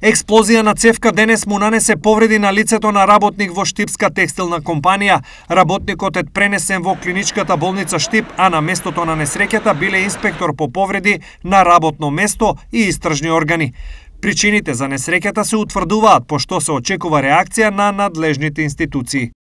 Експлозија на цевка денес му нанесе повреди на лицето на работник во Штипска текстилна компанија. Работникот е пренесен во клиничката болница Штип, а на местото на несреќата биле инспектор по повреди на работно место и истражни органи. Причините за несреќата се утврдуваат, пошто се очекува реакција на надлежните институции.